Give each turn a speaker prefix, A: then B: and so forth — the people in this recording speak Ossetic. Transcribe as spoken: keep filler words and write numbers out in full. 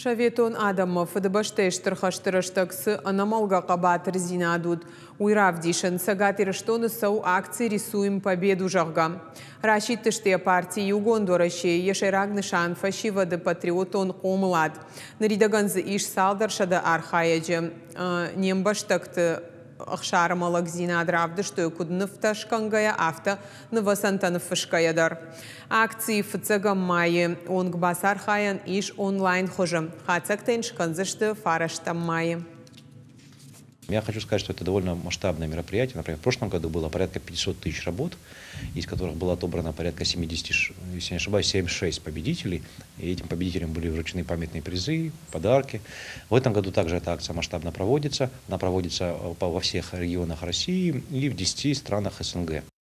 A: Советон адӕммӕ Фыдыбӕстӕйы Стыр хӕсты рӕстӕг цы ӕнӕмӕлгӕ хъӕбатырдзинад уыд, уый равдисын. Цӕгат Ирыстоны цӕуы акци «Рисуем победу», зӕгъгӕ. Расидтысты йӕ парти «Иугонд Уӕрӕсе». Йӕ сӕйраг нысан – фӕсивӕды патриотон хъомылад. Ныридӕгӕн дзы ис цалдӕр сӕдӕ архайӕджы. Не мбӕстӕгты ӕхсар ӕмӕ лӕгдзинад равдыстой куыд нывтӕ скӕнгӕйӕ, афтӕ нывӕцӕнтӕ ныффысгӕйӕ дӕр. Акцийы фыццӕгӕм майы онг бацархайӕн ис онлайн хуызы. Хатдзӕгтӕ йын скӕндзысты фарӕстӕм майы.
B: Я хочу сказать, что это довольно масштабное мероприятие. Например, в прошлом году было порядка пятисот тысяч работ, из которых было отобрано порядка семидесяти, если не ошибаюсь, семьдесят шесть победителей. И этим победителям были вручены памятные призы, подарки. В этом году также эта акция масштабно проводится. Она проводится э, во всех регионах России и в десяти странах С Н Г.